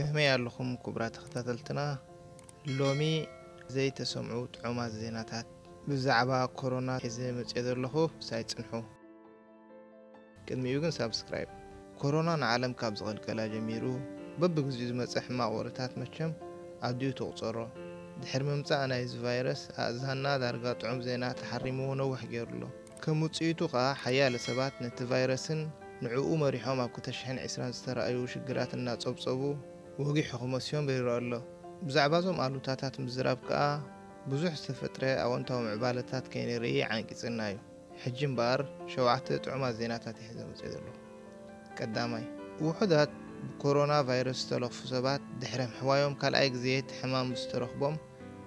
ከመይ ኣለኹም ክቡራት ተኸታተልትና? ሎሚ ዘይተሰምዑ ጥዑማት ዜናታት ብዛዕባ ኮሮና ሒዘ መፅየ ዘለኹ። ሳይ ፅንሑ። ቅድሚኡ ግን ሳብስክራይብ። ኮሮና ንዓለም ካብ ዝቐልቀላ ጀሚሩ በብግዚኡ ዝመፀ ሕማቕ ወረታት መቸም ኣዲኡ ትቑፀሮ። ድሕሪ ምምፃእ ናይዚ ቫይረስ ኣእዛንና ዳርጋ ጥዑም ዜና ተሓሪምዎ ነዊሕ ገይሩ ኣሎ። ከም ውፅኢቱ ከኣ ሓያለ ሰባት ነቲ ቫይረስን ንዕኡ መሪሖም ኣብ ክልተ ሽሕን ዕስራን ዝተረኣዩ ሽግራት እናጸብጸቡ ወጊሑ ክመስዮም ይረኣ ኣሎ። ብዛዕባ እዞም ኣሉታታት ምዝራብ ከኣ ብዙሕ ዝተፈጥረ ኣወንታዊ ምዕባለታት ከይንርኢ ዓንቂጽና እዩ። ሕጂ እምበኣር ሸውዓተ ጥዑማት ዜናታት እየ ሒዘ መጽእ ዘለኹ። ቀዳማይ፣ ውሑዳት ብኮሮና ቫይረስ ዝተለኽፉ ሰባት ድሕሪ ምሕዋዮም ካልኣይ ግዜ እቲ ሕማም ምስ ተረኽቦም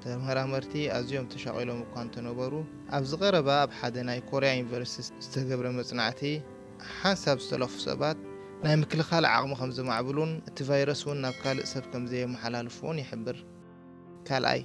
ተመራመርቲ ኣዝዮም ተሻቒሎም እኳ እንተነበሩ፣ ኣብዚ ቀረባ ኣብ ሓደ ናይ ኮርያ ዩኒቨርሲቲ ዝተገብረ መጽናዕቲ ሓንሳብ ዝተለኽፉ ሰባት ናይ ምክልኻል ዓቕሚ ከም ዘማዕብሉን እቲ ቫይረስ እውን ናብ ካልእ ሰብ ከም ዘየመሓላልፍዎን ይሕብር። ካልኣይ፣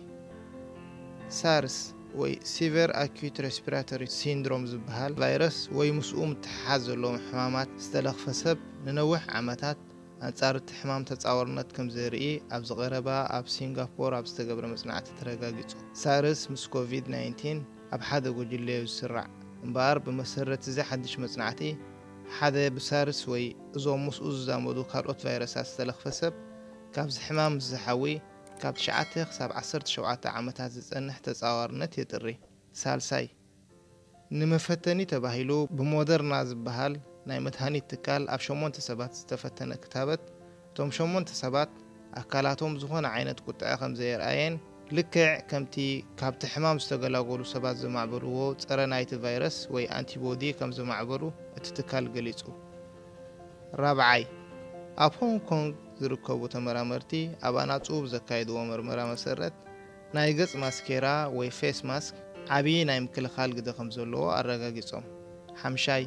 ሳርስ ወይ ሲቨር ኣኪዩት ሬስፒራቶሪ ሲንድሮም ዝበሃል ቫይረስ ወይ ምስኡ ምትሓሓዝ ዘለዎም ሕማማት ዝተለኽፈ ሰብ ንነዊሕ ዓመታት ኣንጻር እቲ ሕማም ተጻዋርነት ከም ዘርኢ ኣብዚ ቀረባ ኣብ ሲንጋፖር ኣብ ዝተገብረ መጽናዕቲ ተረጋጊጹ። ሳርስ ምስ ኮቪድ ናይንቲን ኣብ ሓደ ጉጅለ እዩ ዝስራዕ። እምበኣር ብመሰረት እዚ ሓድሽ መጽናዕቲ፣ ሓደ ብሳርስ ወይ እዞም ምስኡ ዝዛመዱ ካልኦት ቫይረሳት ዝተለኽፈ ሰብ ካብዚ ሕማም ምስ ዝሓዊ ካብ ትሽዓተ ክሳብ ዓሰርተ ሸውዓተ ዓመታት ዝጸንሕ ተጻዋርነት የጥሪ። ሳልሳይ፣ ንመፈተኒ ተባሂሉ ብሞደርና ዝበሃል ናይ መድሃኒት ትካል ኣብ ሸሞንተ ሰባት ዝተፈተነ ክታበት፣ እቶም ሸሞንተ ሰባት ኣካላቶም ዝኾነ ዓይነት ቁጥዐ ከም ዘየርኣየን ልክዕ ከምቲ ካብቲ ሕማም ዝተገላገሉ ሰባት ዘማዕበልዎ ጸረ ናይቲ ቫይረስ ወይ ኣንቲቦዲ ከም ዘማዕበሉ እቲ ትካል ገሊጹ። ራብዓይ፣ ኣብ ሆንግ ኮንግ ዝርከቡ ተመራመርቲ ኣብ ኣናጹ ብዘካየድዎ መርመራ መሰረት ናይ ገጽ ማስኬራ ወይ ፌስ ማስክ ዓቢ ናይ ምክልኻል ግደ ከም ዘለዎ ኣረጋጊጾም። ሓምሻይ፣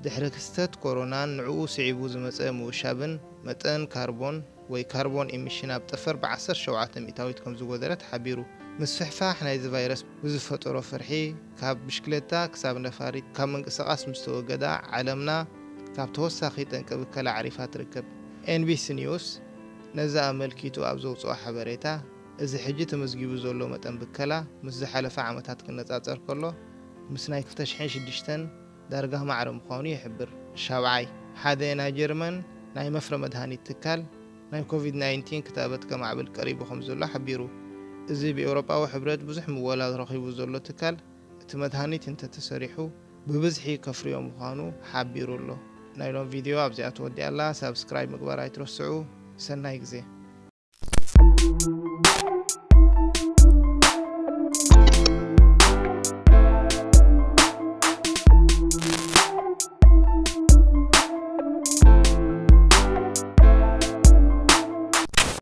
ድሕሪ ክስተት ኮሮናን ንዕኡ ስዒቡ ዝመጸ ምውሻብን መጠን ካርቦን ወይ ካርቦን ኢሚሽን ኣብ ጠፈር ብ ዓሰርተ ሸውዓተ ሚእታዊት ከም ዝጎደለ ተሓቢሩ። ምስፍሕፋሕ ናይዚ ቫይረስ ብዝፈጠሮ ፍርሒ ካብ ብሽክለታ ክሳብ ነፋሪት ካብ ምንቅስቓስ ምስ ተወገዳ ዓለምና ካብ ተወሳኺ ጠንቂ ብከላ ዓሪፋ ትርከብ። ኤንቢሲ ኒውስ ነዚ ኣመልኪቱ ኣብ ዘውጽኦ ሓበሬታ፣ እዚ ሕጂ ተመዝጊቡ ዘሎ መጠን ብከላ ምስ ዝሓለፈ ዓመታት ክነጻጸር ከሎ ምስ ናይ ክልተ ሽሕን ሽዱሽተን ዳርጋ ማዕረ ምዃኑ ይሕብር። ሻብዓይ፣ ሓደ ናይ ጀርመን ናይ መፍረ መድሃኒት ትካል ናይ ኮቪድ ናይንቲን ክታበት ከማዕብል ቀሪቡ ከም ዘሎ ሓቢሩ። እዚ ብኤውሮጳዊ ሕብረት ብዙሕ ምወላ ረኺቡ ዘሎ ትካል እቲ መድሃኒት እንተተሰሪሑ ብብዝሒ ከፍርዮ ምዃኑ ሓቢሩ ኣሎ። ናይ ሎም ቪድዮ ኣብዚኣ ተወዲኣ ኣላ። ሳብስክራይብ ምግባር ኣይትረስዑ። ሰናይ ግዜ።